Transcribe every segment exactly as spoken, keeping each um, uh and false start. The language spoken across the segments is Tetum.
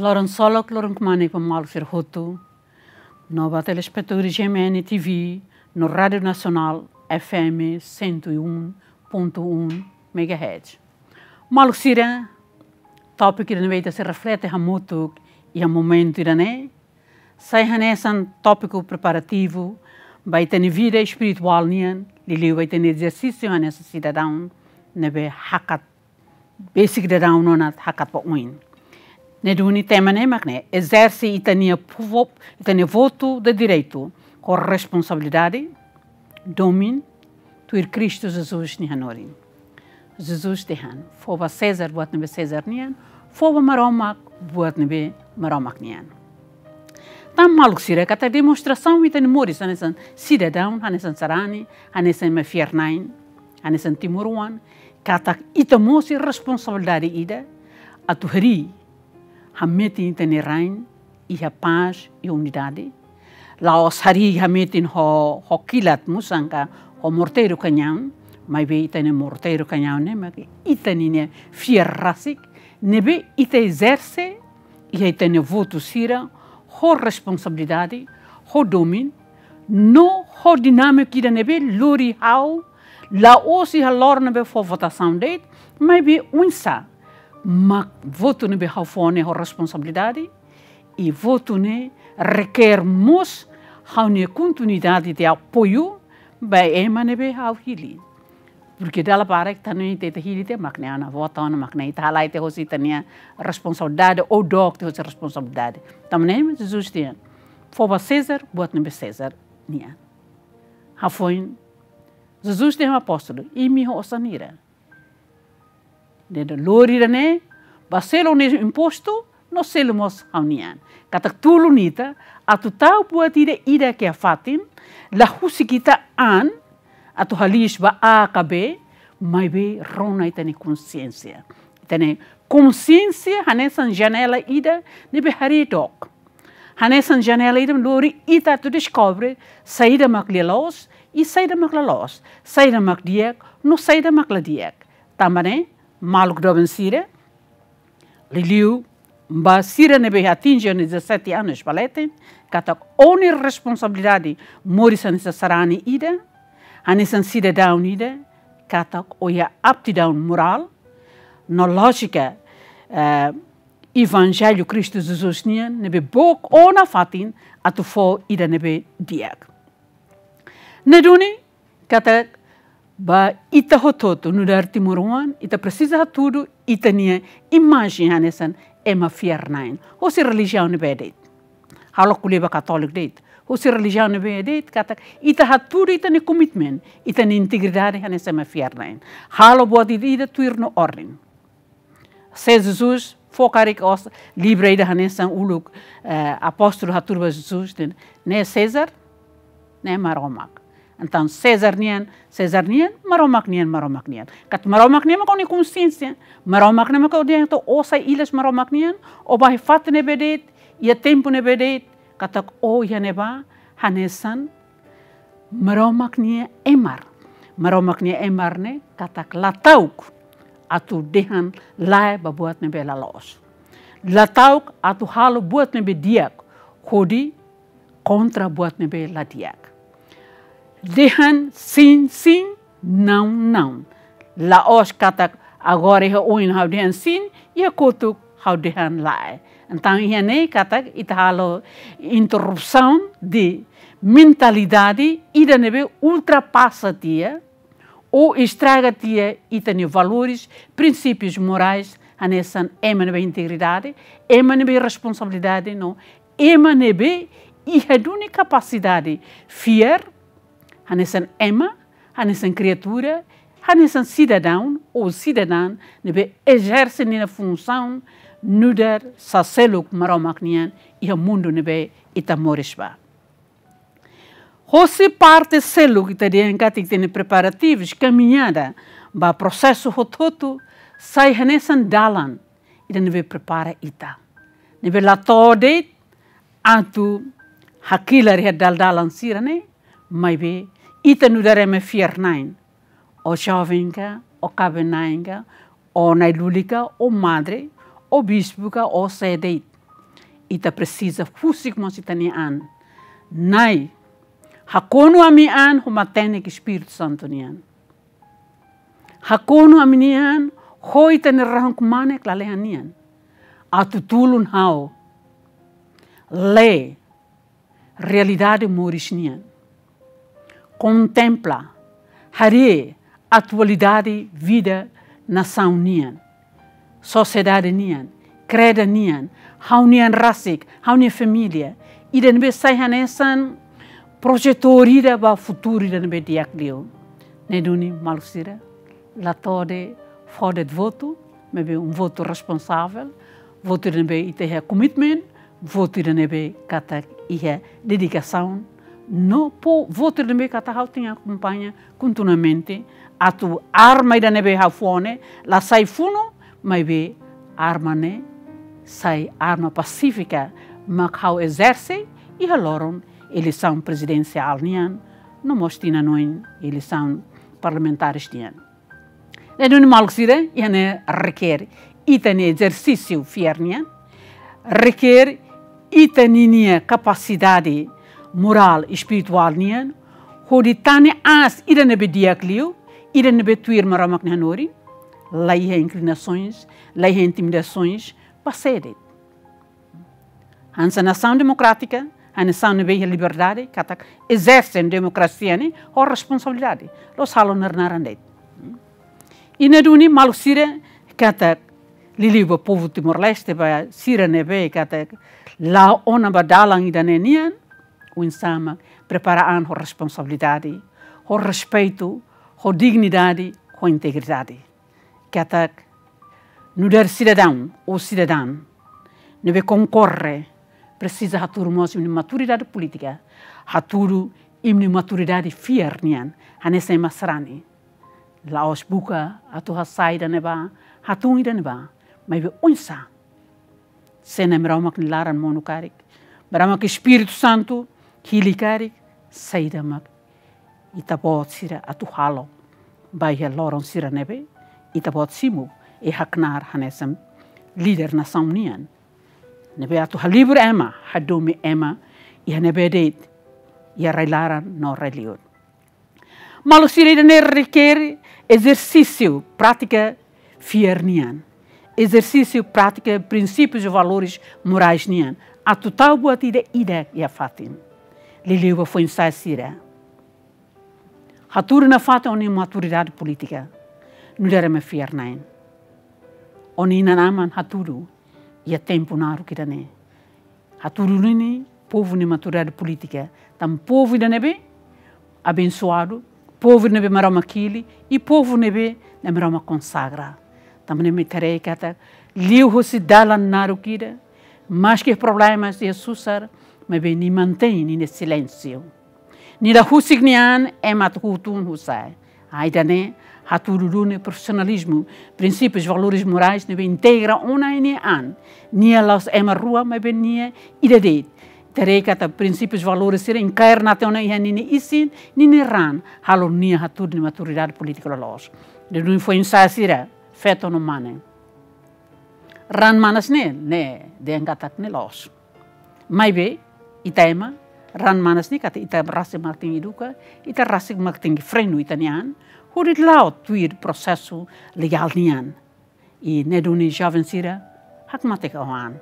Loron solok, loron kmanek ba maluk sira hotu, no ba telespetadór G M N T V, no Rádiu Nasionál F M cento e um ponto um megahertz. Maluk sira, tópiku ida ne'ebé ita sei reflete hamutuk iha momentu ida-ne'e, sai hanesan tópiku preparativu ba ita-nia vida espirituál nian, liuliu ba ita-nia ezersísiu hanesan sidadaun ne'ebé hakat, besik daudaun ona hakat ba oin. Ne'e duni tema ne'e mak ne'e, ezerse ita-nia povu, ita-nia votu de direitu ho responsabilidade, domin, tuir Kristu Jesus nia hanorin. Jesus dehan: fó ba César buat ne'ebé César nian, fó ba Maromak buat ne'ebé Maromak nian. Tan maluk sira, katak demonstrasaun ita-nia moris hanesan sidadaun, hanesan sarani, hanesan ema fiar-na'in, hanesan timoroan, katak ita mós iha responsabilidade ida atu harii hametin ita-nia rain iha pás, iha unidade. La'ós harii hametin ho, ho kilat musan ka ho morteiru kañaun, maibé ita-nia morteiru kañaun ne'e mak ita-nia fiar rasik ne'ebé ita ezerse iha ita-nia votu sira ho responsabilidade, ho domin, no ho dinámika ida ne'ebé lori ha'u la'ós iha loron ne'ebé fó votasaun de'it, maibé oinsá mak votu ne'ebé ha'u fó ne'e ho responsabilidade, i votu ne'e reker mós ha'u-nia kontinuidade de apoiu ba ema ne'ebé ha'u hili. Porke dala barak ita, no ita, ita hili tiha mak ne'e, ona vota ona mak ne'e, ita halai tiha hosi ita-nia responsabilidade, ou dook tiha hosi responsabilidade. Tanba ne'e Jesus dehan: fó ba César buat ne'ebé César nian. Hafoin Jesus dehan ba apóstolu: imi ho osan hira. Dehan: lori ida-ne'e, bá selu nia impostu, no selu mós ha'u-nian. Katak tulun ita atu tau buat ida-idak iha fatin, la husi ita-nia an atu haliis ba A ka B, maibé rona ita-nia konxiénsia. Ita-nia konxiénsia hanesan janela ida ne'ebé harii dook. Hanesan janela ida lori ita atu deskobre saida mak lia-loos i saida mak la loos, saida mak di'ak no saida mak la di'ak. Tanba ne'e, maluk doben sira, liuliu ba sira ne'ebé atinje dezasete anos ba leten, katak ó-nia responsabilidade moris hanesan sarani ida, hanesan sidadaun ida, katak ó iha aptidaun morál no lójika, eh, Evanjellu Kristu Jesus nian ne'ebé book ó nafatin atu fó ida ne'ebé di'ak. Ne'e duni katak ba ita hotu-hotu nu'udar timoroan, ita presiza hatudu ita-nia imajen hanesan ema fiar-na'in, hosi relijiaun ne'ebé de'it. Ha'u la ko'alia ba katóliku de'it. Hosi relijiaun ne'ebé de'it, katak ita hatudu ita-nia komitmen, ita-nia integridade hanesan ema fiar-na'in. Halo buat ida-idak tuir nia orden. Se Jesus fó karik osan, livru ida hanesan uluk, eh, apóstolu hatudu ba Jesus dehan: ne'e César, ne'e Maromak. Entaun César nian César nian, Maromak nian Maromak nian. Katak Maromak nian mak ó-nia konxiénsia. Maromak nian mak ó dehan atu ó sai ilas Maromak nian, ó bá iha fatin ne'ebé de'it, iha tempu ne'ebé de'it, katak ó iha ne'ebá hanesan Maromak nia emar. Maromak nia emar ne'e katak la ta'uk atu dehan lae ba buat ne'ebé la loos. La ta'uk atu halo buat ne'ebé di'ak hodi kontra buat ne'ebé la di'ak. Dehan sin, sin, naun, naun. La'ós katak agora iha oin ha'u dehan sin, iha kotuk ha'u dehan lae. Entaun iha ne'e katak ita halo interrupsaun de mentalidade ida ne'ebé ultrapasa tiha, ou estraga tiha ita-nia valores, prinsípius morais, hanesan ema ne'ebé integridade, ema ne'ebé responsabilidade, no ema ne'ebé iha duni kapasidade fiar, hanesan ema, hanesan kriatura, hanesan sidadaun ou sidadán ne'ebé ezerse nia funsaun nu'udar saseluk Maromak nian iha mundu ne'ebé ita moris ba. Hosi parte seluk ita dehan katak ita-nia preparativus, kamiñada ba prosesu hotu-hotu, sai hanesan dalan ida ne'ebé prepara ita. Ne'ebé la to'o de'it atu hakilar iha dal-dalan sira-ne'e, maibé ita nu'udar ema fiar-na'in. Ó joven ka, ó kaben-na'in ka, ó na'i-luli ka, ó madre, ó bispu ka, ó sé de'it. Ita presiza husik mós ita-nia an. Na'i, hakonu ami-nia an ho matenek Espíritu Santu nian. Hakonu ami-nia an ho ita-nia rahun-kmanek lalehan nian, atu tulun ha'u lee realidade moris nian. Kontempla, haree atualidade vida nasaun nian, sosiedade nian, kreda nian, ha'u-nian rasik, ha'u-nia família. Ida ne'ebé sai hanesan projetór ida ba futuru ida ne'ebé di'ak liu. Ne'e duni maluk sira, la to'o fó de'it votu, maibé um votu responsavel, votu ida ne'ebé ita iha komitmen, votu ida ne'ebé katak iha dedikasaun, no po votu ida ne'ebé katak ha'u tenke akompaña kontinuamente, atu arma ida ne'ebé ha'u fó ne'e la sai funu, maibé arma ne'e sai arma pasífika mak ha'u ezerse iha loron eleisaun prezidensiál nian, no mós tinan oin eleisaun parlamentares nian. Ne'e duni maluk sira, iha ne'e rekere ita-nia ezersísiu fiar nian, rekere ita ninia kapasidade morál, espirituál nian, hodi tane aas ida ne'ebé di'ak liu, ida ne'ebé tuir Maromak nia hanorin, la iha inklinasoens, la iha intimidasoens, ba sé de'it. Hanesan nasaun demokrátika, hanesan nasaun ne'ebé iha liberdade, katak ezerse demokrasia ne'e ho responsabilidade. La'ós halo naran-naran de'it. I ne'e duni maluk sira, katak liuliu ba povu Timor-Leste, ba sira ne'ebé katak la'o ona ba dalan ida-ne'e nian, oinsá mak prepara an ho responsabilidade, ho respeitu, ho dignidade, ho integridade. Katak nu'udar sidadaun ou sidadán ne'ebé konkorre, presiza hatudu mós imi-nia maturidade polítika, hatudu imi-nia maturidade fiar nian, hanesan ema sarani. La'ós buka atu hasai ida-ne'ebá, hatún ida-ne'ebá, maibé oinsá. Se Na'i Maromak nia laran monu karik, Maromak Espíritu Santu hili karik, saida mak ita-boot sira atu halo ba iha loron sira ne'ebé ita-boot simu i haknaar hanesan líder nasaun nian, ne'ebé atu halibur ema, hadomi ema iha ne'ebé de'it, iha rai-laran no rai-liur. Maluk sira, ida-ne'e rekere ezersísiu prátika fiar nian, ezersísiu prátika prinsípius i valores morais nian, atu tau buat ida-idak iha fatin. Liuliu ba foin-sa'e sira, hatudu nafatin ó-nia maturidade polítika nu'udar ema fiar-na'in. Ó-nia inan-aman hatudu iha tempu naruk ida-ne'e. Hatudu duni povu nia maturidade polítika, tanba povu ida ne'ebé abensoadu, povu ida ne'ebé Maromak hili, i povu ne'ebé Na'i Maromak konsagra. Tanba ne'e mak ita haree katak liuhosi dalan naruk ida, maski problema iha susar, maibé nia mantein ninia silénsiu. Nia la husik nia an ema atu hutun husik. Ida-ne'e hatudu duni profisionalizmu, prinsípius, valores morais ne'ebé integra ona nia an. Nia la'ós ema rua, maibé nia ida de'it. Ita haree katak prinsípius, valores sira enkair naten ona iha ninia isin, ninia ran, halo nia hatudu nia maturidade polítika loloos. Ne'e duni foin-sa'e sira, feto no mane. Ran manas ne'e, ne'e dehan katak ne'e loos. Maibé, ita ema, ran manas ne'e katak ita rasik mak tenke eduka, ita rasik mak tenke frenu ita-nia an, hodi la'o tuir prosesu legál nian. I ne'e duni joven sira, hakmatek ó-nia an.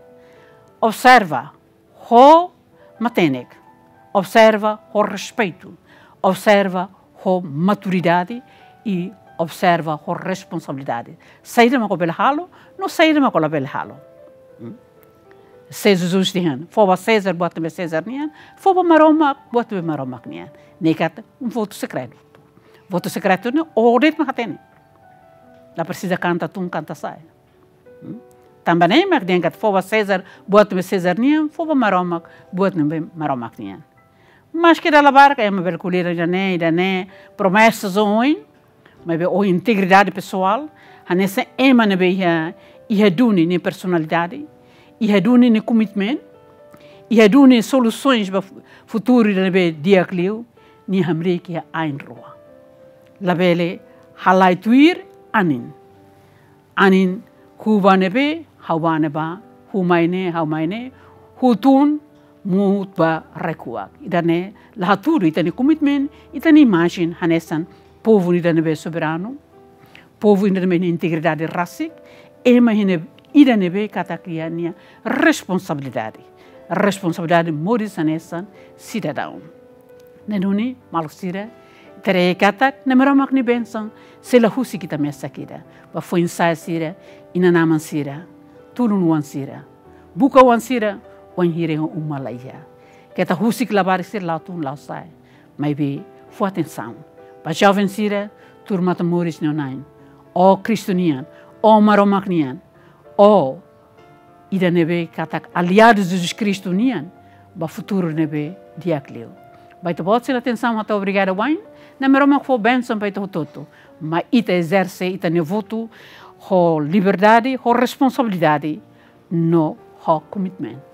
Observa ho matenek, observa ho respeitu, observa ho maturidade i observa ho responsabilidade. Saida mak ó bele halo, no saida mak ó labele halo. Hmm? Se Jesus dehan, fó ba César buat ne'ebé César nian, fó ba Maromak buat ne'ebé Maromak nian. Ne'e katak um votu sekretu. Votu sekretu ne'e ó de'it mak hatene. La presiza kanta tun, kanta sa'e. Hmm? Tanba ne'e mak dehan katak fó ba César buat ne'ebé César nian, fó ba Maromak buat ne'ebé Maromak nian. Maski dala barak ema bele ko'alia ida-ne'e, ida-ne'e, promesas oioin, maibé ó-nia integridade pesoál, hanesan ema ne'ebé iha, iha duni nia personalidade, iha duni nia komitmen, iha duni solusoens ba fu-, futuru ida ne'ebé di'ak liu, nia hamriik iha ain rua. Labele halai tuir anin. Anin, huu ba ne'ebé, ha'u ba ne'ebá, huu mai ne'e, ha'u mai ne'e, Utun mut ba rai-kuak. Ida-ne'e la hatudu ita-nia komitmen, ita-nia imajen hanesan povu ida ne'ebé soberanu, povu ida ne'ebé iha integridade rasik, ema ida ne'ebé katak iha nia responsabilidade. Responsabilidade moris hanesan sidadaun. Ne'e duni, maluk sira, ita haree katak Nai Maromak nia bensaun sei la husik ita mesak ida. Ba foin-sa'e sira, inan-aman sira, tulun oan sira, buka oan sira, wainhira uma la iha. Keta husik labarik sira la'o tun la'o sa'e. Maibé fó atensaun ba joven sira, tuur matan-moris nia oin. Ó Kristu nian, ó Maromak nian, ó ida ne'ebé katak aliadu Jesus Kristu nian ba futuru ne'ebé di'ak liu. Ba ita-boot sira atensaun hato'o obrigada wa'in, Nai Maromak fó bensaun ba ita hotu-hotu. Mai ita ezerse ita-nia votu ho liberdade, ho responsabilidade, no ho komitmen.